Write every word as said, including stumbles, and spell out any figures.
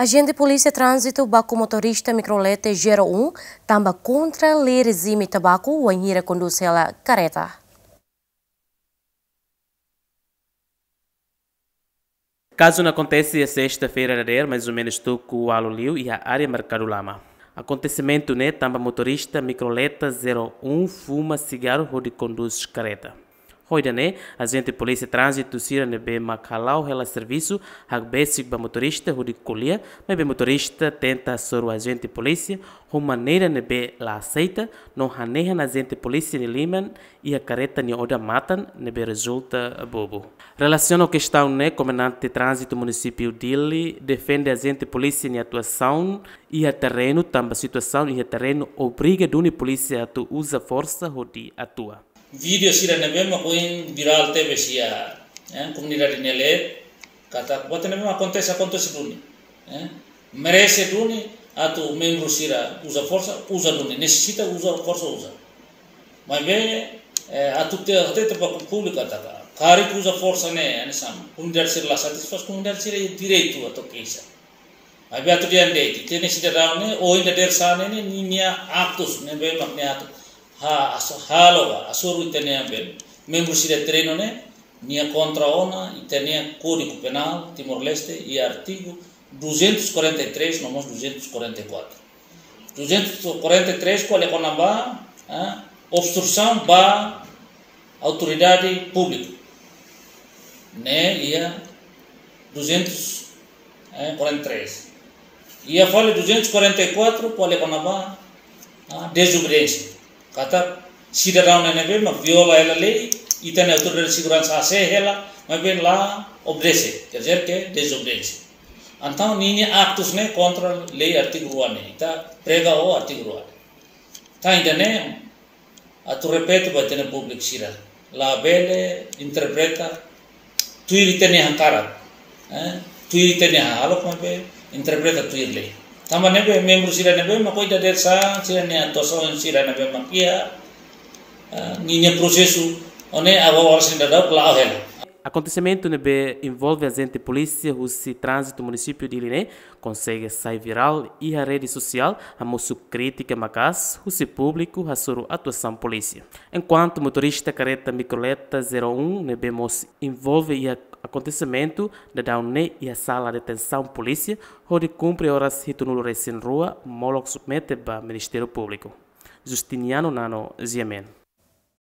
Ajente Polísia Tránzitu baku motorista mikrolete zero um tanba kontra lei rejime tabaku wainhira kondús hela kareta. Kazu ne'e akontese iha sesta-feira dadeer, mais ou menus tuku ualu liu, iha área Merkadu Lama. Akontesimentu ne'e tanba motorista mikroleta zero um fuma sigarru hodi kondús kareta. Ho ida-ne'e, ajente Polísia Tránzitu sira ne'ebé mak hala'o hela servisu hakbesik ba motorista hodi ko'alia, maibé motorista tenta hasoru ajente polísia ho maneira ne'ebé la aseita, no hanehan ajente polísia nia liman iha kareta nia odamatan, ne'ebé rezulta bobu. Relasiona ho kestaun ne'e, Komandante Tránzitu Munisípiu Dili defende ajente polísia nia atuasaun iha terrenu, tanba situasaun iha terrenu obriga duni polísia atu uza forsa hodi atua. Vídeo sira ne'ebé mak ohin virál tebes iha, eh, komunidade nia leet, katak buat ne'ebé mak akontese, akontese duni, eh. Merese duni atu membru sira uza forsa, uza duni, nesesita uza forsa, uza. Maibé, eh, atu te, te, te ba públiku katak karik uza forsa ne'e, hanesan komunidade sira la satisfás, komunidade sira iha direitu atu keixa. Maibé atu dehan de'it, ita-nia sidadaun ne'e, ohin dadeer-saan ne'e, ninia aktus ne'ebé mak nia atu ha, haso, halo ba, hasoru ita-nia membru sira terrenu ne'e, nia kontra ona ita-nia Kódigu Penál Timor-Leste iha artigu duzentos e quarenta e três, no mós duzentos e quarenta e quatro. Duzentos e quarenta e três, ko'alia kona-ba, ah, obstrusaun ba autoridade públika. Ne'e iha duzentos e quarenta e três. Iha fali duzentos e quarenta e quatro, ko'alia kona-ba, ah, dezobediénsia. Katak sidadaun ne'ebé mak viola hela lei, ita-nia autoridade seguransa hasee hela, maibé la obedese, quer dizer que dezobediénsia. Entaun, ninia aktus ne'e kontra lei artigu rua ne'e, ita prega ho artigu rua ne'e. Entaun, ida-ne'e, atu repete ba ita-nia públiku sira, labele interpreta tuir ita-nia hakarak, eh, tuir ita-nia hahalok, maibé interpreta tuir lei. Tanba ne'ebé membru sira ne'ebé mak ohin dadeer-saan, sira-nia atuasaun sira ne'ebé mak iha, eh, ninia prosesu, ho ne'e agora sira daudaun la'o hela. Akontesimentu ne'ebé envolve ajente polísia husi Tránzitu Munisípiu Dili ne'e konsege sai virál iha rede sosiál, hamosu krítika maka'as husi públiku hasoru atuasaun polísia. Enkuantu motorista kareta mikroleta zero um ne'ebé mós envolve iha akontesimentu daudaun ne'e iha sala detensaun polísia, hodi kumpre oras hitunulu resin rua, molok submete ba Ministériu Públiku. Justiniano Nano, G M N.